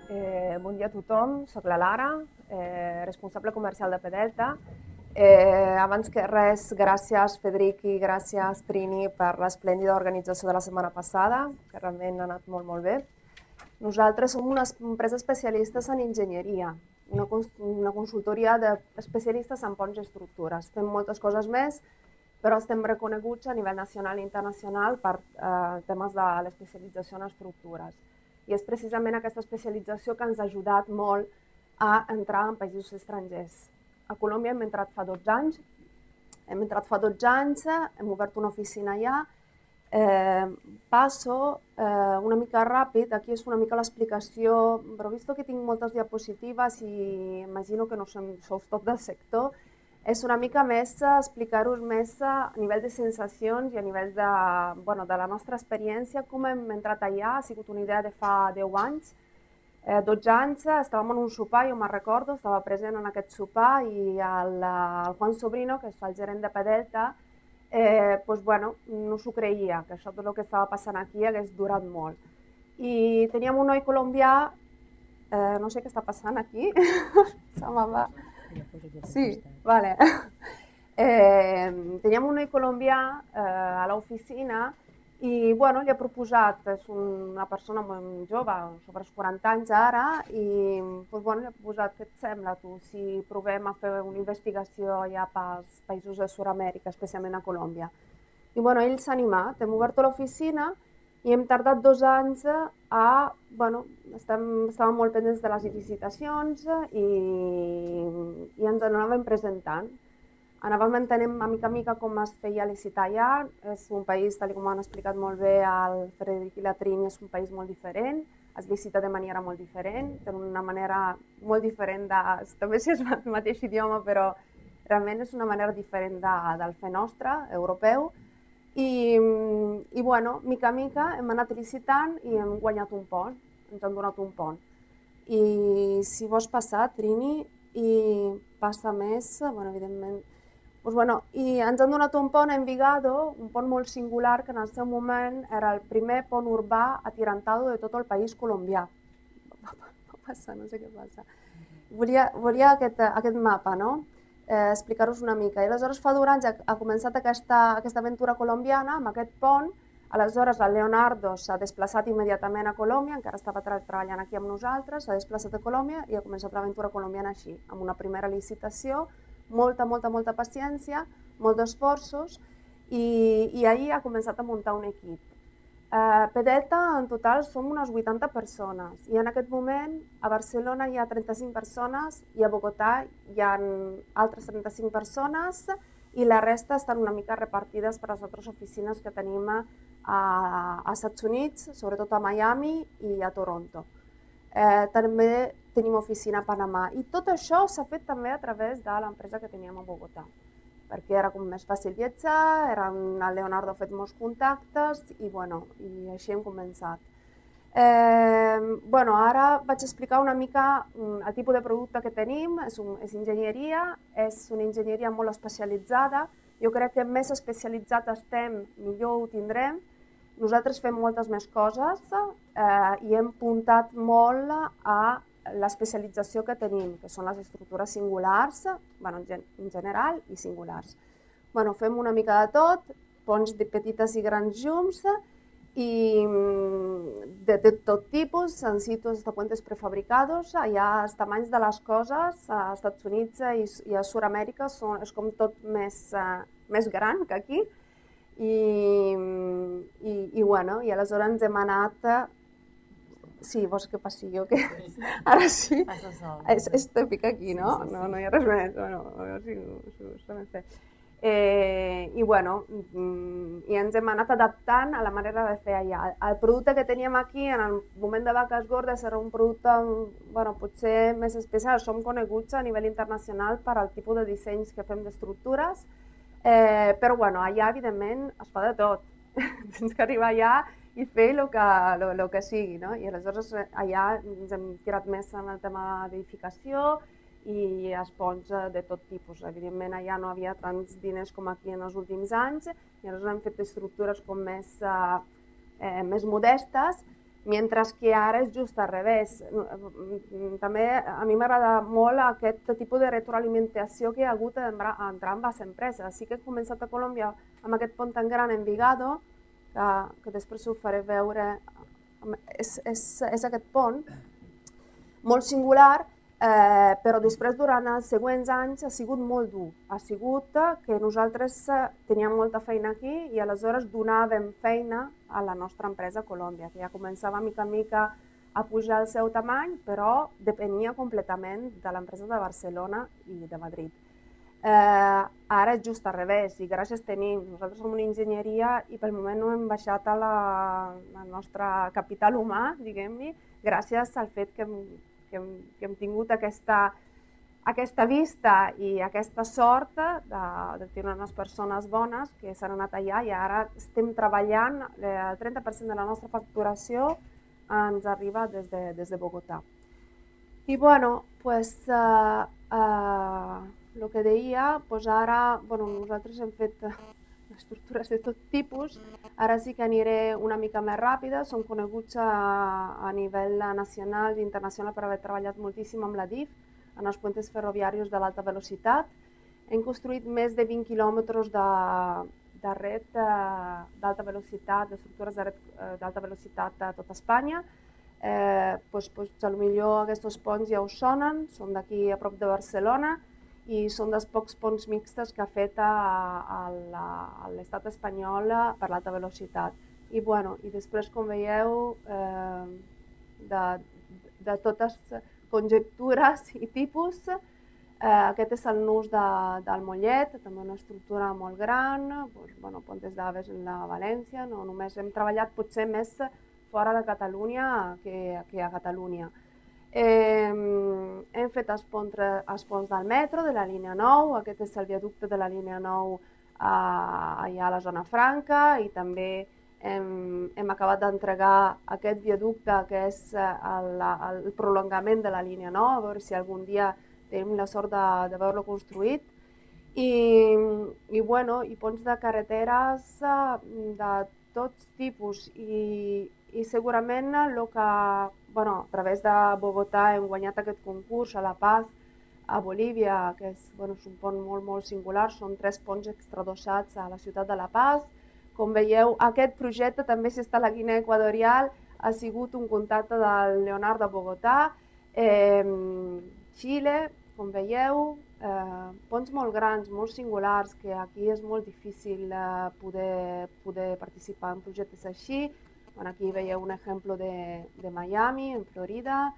Bon dia a tothom, soc la Lara, responsable comercial de Pedelta. Abans que res, gràcies Federic i gràcies Trini per l'esplèndida organització de la setmana passada, que realment ha anat molt, molt bé. Nosaltres som una empresa especialistes en enginyeria, una consultoria d'especialistes en ponts i estructures. Fem moltes coses més, però estem reconeguts a nivell nacional i internacional per temes de l'especialització en estructures. I és precisament aquesta especialització que ens ha ajudat molt a entrar en països estrangers. A Colòmbia hem entrat fa 12 anys, hem obert una oficina allà. Passo una mica ràpid, aquí és una mica l'explicació, però vist que tinc moltes diapositives i imagino que no sou tot del sector, és una mica més explicar-vos més a nivell de sensacions i a nivell de la nostra experiència, com hem entrat allà. Ha sigut una idea de fa 10 anys, 12 anys, estàvem en un sopar, jo me'n recordo, estava present en aquest sopar i el Juan Sobrino, que és el gerent de Pedelta, no s'ho creia, que això tot el que estava passant aquí hagués durat molt. I teníem un noi colombià, no sé què està passant aquí, se me'n va. Sí, vale. Teníem un noi colombià a l'oficina i li he proposat, és una persona molt jove, sobre els 40 anys ara, i li he proposat, què et sembla tu, si provem a fer una investigació allà pels països de Sud-amèrica, especialment a Colòmbia. I ell s'ha animat, hem obert l'oficina i hem tardat 2 anys estàvem molt pendents de les licitacions i ens anàvem presentant. Anàvem entenent a mica com es feia licitar allà. És un país, tal com han explicat molt bé el Frederic i la Trini, és un país molt diferent, es licita de manera molt diferent, d'una manera molt diferent, també si és el mateix idioma, però realment és una manera diferent del fer nostre, europeu. I mica en mica hem anat licitant i hem guanyat un pont, ens han donat un pont. I si vols passar, Trini, i passa més, evidentment. I ens han donat un pont a Envigado, un pont molt singular, que en el seu moment era el primer pont urbà atirantado de tot el país colombià. Va passar, no sé què passa. Volia aquest mapa, no? Explicar-vos una mica. I aleshores fa 2 anys ha començat aquesta aventura colombiana amb aquest pont. Aleshores el Leonardo s'ha desplaçat immediatament a Colòmbia, encara estava treballant aquí amb nosaltres, s'ha desplaçat a Colòmbia i ha començat l'aventura colombiana així, amb una primera licitació, molta paciència, molts esforços, i ahir ha començat a muntar un equip. Pedelta, en total, som unes 80 persones i en aquest moment a Barcelona hi ha 35 persones i a Bogotà hi ha altres 35 persones i la resta estan una mica repartides per les altres oficines que tenim als Estats Units, sobretot a Miami i a Toronto. També tenim oficina a Panamà i tot això s'ha fet també a través de l'empresa que teníem a Bogotà, perquè era com més fàcil viatjar, el Leonardo ha fet molts contactes i així hem començat. Ara vaig explicar una mica el tipus de producte que tenim, és enginyeria, és una enginyeria molt especialitzada. Jo crec que més especialitzat estem, millor ho tindrem. Nosaltres fem moltes més coses i hem puntat molt a l'especialització que tenim, que són les estructures singulars, en general, i singulars. Fem una mica de tot, ponts de petites i grans llums, i de tot tipus, en situs de puentes prefabricados. Allà els tamanys de les coses als Estats Units i a Sud-amèrica és com tot més gran que aquí. I aleshores ens hem anat... Sí, vols que passi jo? Ara sí. És tòpic aquí, no? No hi ha res més. I ens hem anat adaptant a la manera de fer allà. El producte que teníem aquí en el moment de vaques gordes era un producte potser més especial. Som coneguts a nivell internacional per al tipus de dissenys que fem d'estructures, però allà evidentment es fa de tot. Tens que arribar allà i fer el que sigui, no? I aleshores allà ens hem tirat més en el tema d'edificació i els ponts de tot tipus. Evidentment allà no havia tants diners com aquí en els últims anys i aleshores hem fet estructures com més modestes mentre que ara és just al revés. També a mi m'agrada molt aquest tipus de retroalimentació que hi ha hagut entre ambes empreses. Sí que he començat a Colòmbia amb aquest pont tan gran en Vigado, que després ho faré veure, és aquest pont molt singular, però després durant els següents anys ha sigut molt dur. Ha sigut que nosaltres teníem molta feina aquí i aleshores donàvem feina a la nostra empresa a Colòmbia, que ja començava mica en mica a pujar el seu tamany, però depenia completament de l'empresa de Barcelona i de Madrid. Ara és just al revés i gràcies tenim. Nosaltres som una enginyeria i pel moment no hem baixat al nostre capital humà, diguem-ne, gràcies al fet que hem tingut aquesta vista i aquesta sort de tenir unes persones bones que s'han anat allà i ara estem treballant, el 30% de la nostra facturació ens arriba des de Bogotà. I bueno, pues el que deia, doncs ara nosaltres hem fet estructures de tot tipus, ara sí que aniré una mica més ràpida, som coneguts a nivell nacional i internacional per haver treballat moltíssim amb la DIF, en els puentes ferroviaris de l'alta velocitat. Hem construït més de 20 quilòmetres de red d'alta velocitat, d'estructures de red d'alta velocitat a tota Espanya. Potser aquests ponts ja us sonen, són d'aquí a prop de Barcelona, i són dels pocs ponts mixtes que ha fet l'estat espanyol per l'alta velocitat. I després, com veieu, de totes conjectures i tipus, aquest és el nus del Mollet, també una estructura molt gran, Pontes d'Aves en la València, no només hem treballat potser més fora de Catalunya que a Catalunya. Hem fet els ponts del metro, de la línia 9, aquest és el viaducte de la línia 9 allà a la zona franca i també hem acabat d'entregar aquest viaducte que és el prolongament de la línia 9, a veure si algun dia tenim la sort de veure-lo construït. I ponts de carreteres de tots tipus i segurament el que a través de Bogotà hem guanyat aquest concurs a La Paz, a Bolívia, que és un pont molt singular, són 3 ponts extradossats a la ciutat de La Paz. Com veieu, aquest projecte també, si està a la Guinea Equatorial, ha sigut un contacte del Leonardo de Bogotà. Xile, com veieu, ponts molt grans, molt singulars, que aquí és molt difícil poder participar en projectes així. Aquí veieu un exemple de Miami, en Florida.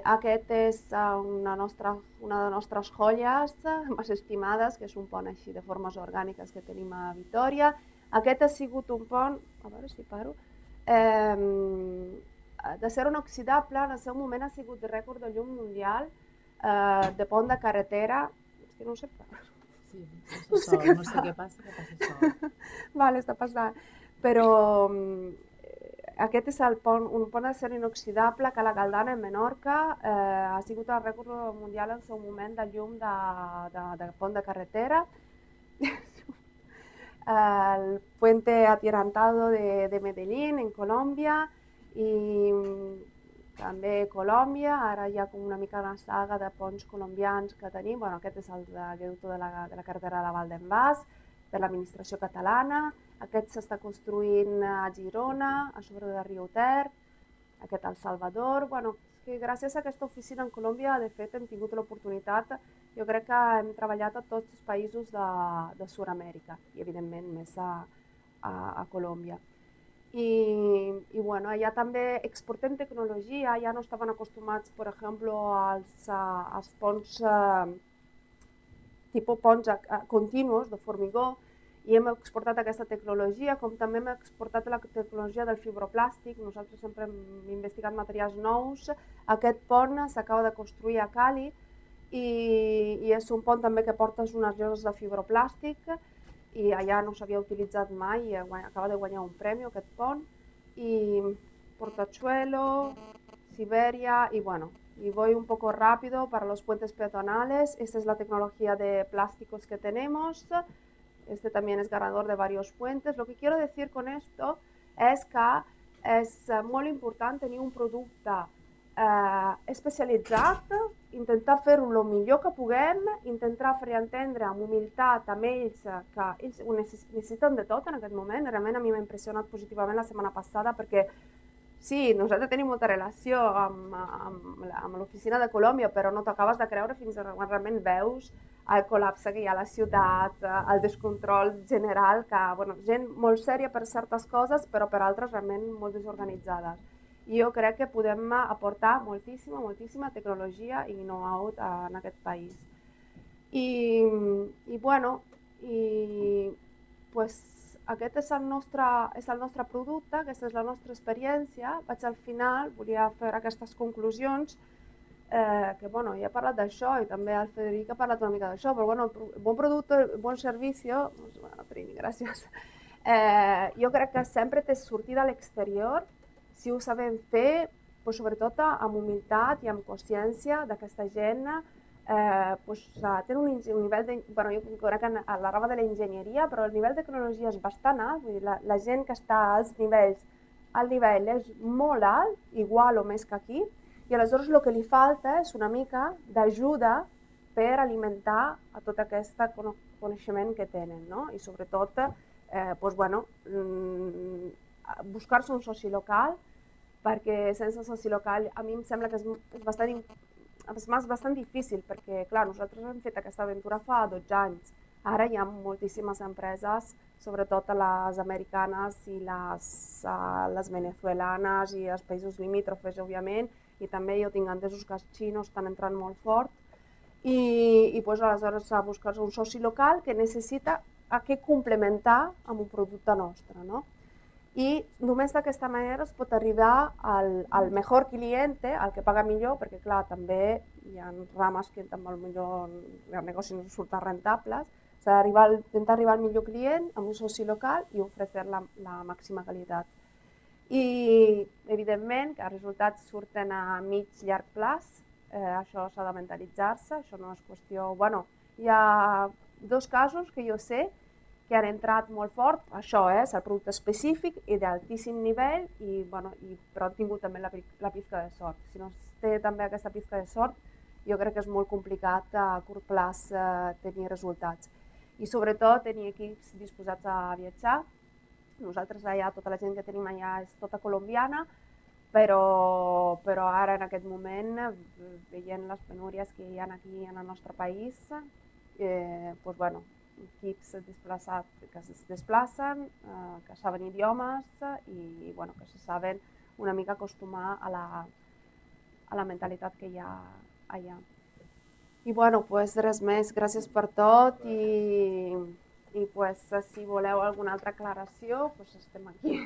Aquest és una de les nostres joies més estimades, que és un pont així de formes orgàniques que tenim a Vitòria. Aquest ha sigut un pont, a veure si paro, d'acer inoxidable, en el seu moment ha sigut de rècord de llum mundial, de pont de carretera, és que no ho sé parar. Sí, no sé què passa, que passa sol. Vale, està passant. Però aquest és un pont d'acer inoxidable que a la Galdana, en Menorca, ha sigut el rècord mundial en el seu moment de llum de pont de carretera. El puente atirantado de Medellín, en Colòmbia, i també Colòmbia, ara hi ha una mica una saga de ponts colombians que tenim. Aquest és el viaducte de la carretera de la Val d'en Bas, de l'administració catalana. Aquest s'està construint a Girona, a sobre de Riu Ter, aquest al Salvador. Gràcies a aquesta oficina en Colòmbia, de fet, hem tingut l'oportunitat, jo crec que hem treballat a tots els països de Sud-amèrica i, evidentment, més a Colòmbia. I allà també exportem tecnologia, ja no estaven acostumats, per exemple, als ponts tipus ponts continus de formigó, i hem exportat aquesta tecnologia, com també hem exportat la tecnologia del fibroplàstic. Nosaltres sempre hem investigat materials nous. Aquest pont s'acaba de construir a Cali i és un pont també que porta unes lloses de fibroplàstic i allà no s'havia utilitzat mai i acaba de guanyar un premi aquest pont. Y Portachuelo, Siberia y voy un poco rápido para los puentes peatonales. Esta es la tecnología de plásticos que tenemos. Este también es ganador de varios puentes. Lo que quiero decir con esto es que és molt important tenir un producte especialitzat, intentar fer-ho el millor que puguem, intentar fer entendre amb humilitat amb ells que ells ho necessiten de tot en aquest moment. Realment a mi m'ha impressionat positivament la setmana passada perquè sí, nosaltres tenim molta relació amb l'oficina de Colòmbia, però no t'acabes de creure fins quan realment veus el col·lapse que hi ha a la ciutat, el descontrol general, que, bueno, gent molt sèria per certes coses, però per altres realment molt desorganitzades. I jo crec que podem aportar moltíssima tecnologia i know-how en aquest país. I bueno, pues, aquest és el nostre producte, aquesta és la nostra experiència. Vaig al final, volia fer aquestes conclusions, que bueno, ja he parlat d'això i també el Federic ha parlat una mica d'això, però bueno, bon producte, bon servici, bueno, Trini, gràcies. Jo crec que sempre té sortida a l'exterior, si ho sabem fer, pues, sobretot amb humilitat i amb consciència d'aquesta gent, pues, tenen un nivell de... Bueno, jo crec que a la rama de l'enginyeria, però el nivell de tecnologia és bastant alt, vull dir, la gent que està als nivells, el nivell és molt alt, igual o més que aquí, i aleshores el que li falta és una mica d'ajuda per alimentar a tot aquest coneixement que tenen, no? I sobretot, pues, bueno, buscar-se un soci local, perquè sense soci local a mi em sembla que és bastant difícil, perquè clar, nosaltres hem fet aquesta aventura fa 12 anys. Ara hi ha moltíssimes empreses, sobretot les americanes i les venezuelanes i els països limítrofes, òbviament, i també jo tinc entesos que els xinos estan entrant molt fort, i pues, aleshores a buscar-se un soci local que necessita que complementar amb un producte nostre, no? I només d'aquesta manera es pot arribar al millor client, al que paga millor, perquè clar, també hi ha rames que també el negoci no surten rentables. S'ha d'intentar arribar al millor client amb un soci local i oferir la màxima qualitat. I evidentment que els resultats surten a mig llarg plaç, això s'ha de mentalitzar-se, això no és qüestió... Bueno, hi ha 2 casos que jo sé que han entrat molt fort, això és el producte específic i d'altíssim nivell, però han tingut també la pizca de sort. Si no es té també aquesta pizca de sort, jo crec que és molt complicat a curt plaç tenir resultats. I sobretot tenir equips disposats a viatjar. Nosaltres allà, tota la gent que tenim allà és tota colombiana, però ara en aquest moment, veient les penúries que hi ha aquí en el nostre país, doncs bueno, equips que es desplacen, que saben idiomes i bueno, que se saben una mica acostumar a la mentalitat que hi ha allà. I bueno, pues res més, gràcies per tot i pues, si voleu alguna altra aclaració, pues estem aquí.